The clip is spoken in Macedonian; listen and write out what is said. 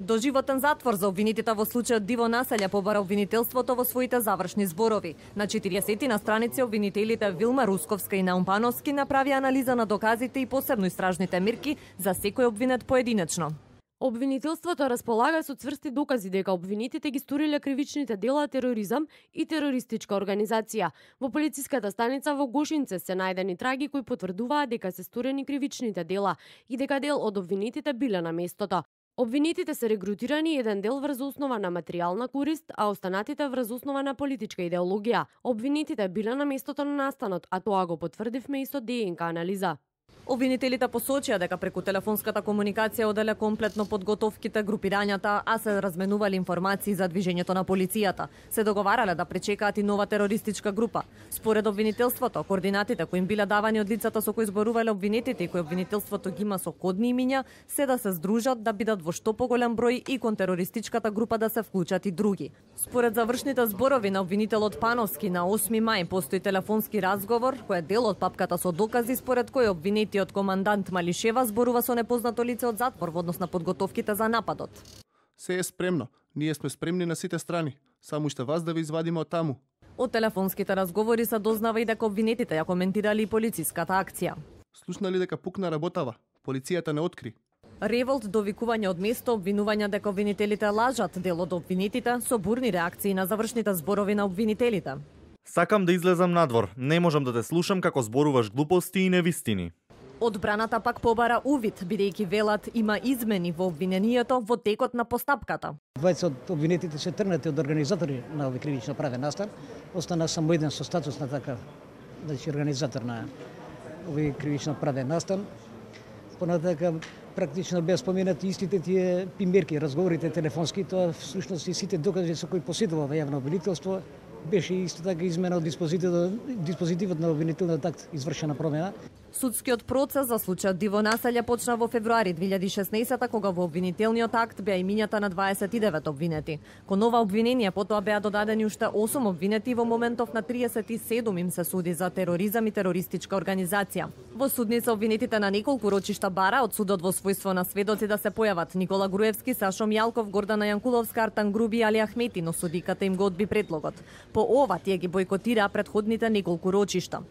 Доживотен затвор за обвинетите во случајот Диво Населја побара обвинителството во своите завршни зборови. На 40 на страници обвинителите Вилма Русковска и Наум Пановски направи анализа на доказите и посебно истражните мерки за секој обвинет поединечно. Обвинителството располага со цврсти докази дека обвинетите ги сториле кривичните дела тероризам и терористичка организација. Во полициската станица во Гошинце се најдени траги кои потврдуваат дека се сторени кривичните дела и дека дел од обвинетите биле на местото. Обвинетите се регрутирани еден дел врз основа на материјална корист, а останатите врз основа на политичка идеологија. Обвинетите биле на местото на настанот, а тоа го потврдивме и со ДНК анализа. Обвинителите посочија дека преку телефонската комуникација оделе комплетно подготовките, групирањата, а се разменувале информации за движењето на полицијата. Се договарале да пречекаат и нова терористичка група. Според обвинителството, координатите кои им биле давани од лицата со кои зборувале обвинетите и кои обвинителството ги има со кодни имиња, се да се здружат да бидат во што поголем број и кон терористичката група да се вклучат и други. Според завршните зборови на обвинителот Пановски на 8 мај постои телефонски разговор кој е дел од папката со докази според кој обвинети од командант Малишева зборува со непознато лице од затвор во однос на подготовките за нападот. Се е спремно. Ние сме спремни на сите страни. Само уште вас да ви извадиме од таму. Од телефонските разговори се дознава и дека обвинетите ја коментирали и полициската акција. Слушнали дека пукна работава. Полицијата не откри. Револт, довикување од место, обвинувања дека обвинителите лажат, дел од обвинетите со бурни реакции на завршните зборови на обвинителите. Сакам да излезам надвор. Не можам да те слушам како зборуваш глупости и невистини. Одбраната пак побара увид, бидејќи велат има измени во обвинението во текот на постапката. Двајца од обвинетите се тргнати од организатори на овој кривично правен настан. Остана само еден со статус на така, значи организатор на овој кривично правен настан. Понатака практично беа споменати истите тие примерки, разговорите телефонски, тоа всушност и сите докази со кои посетува јавно обвинителство, беше исто така измена од диспозитивот на обвинителниот акт, извршена промена. Судскиот процес за случајот Диво Населја почна во февруари 2016 кога во обвинителниот акт беа имињата на 29 обвинети. Кон ова обвинение потоа беа додадени уште 8 обвинети и во моментов на 37 им се суди за тероризам и терористичка организација. Во судница обвинетите на неколку рочишта бара од судот во својство на сведоци да се појават Никола Груевски, Сашо Мјалков, Гордана Јанкуловска, Артан Груби и Али Ахмети, но судиката им го одби предлогот. По ова тие ги бойкотираа претходните неколку рочишта.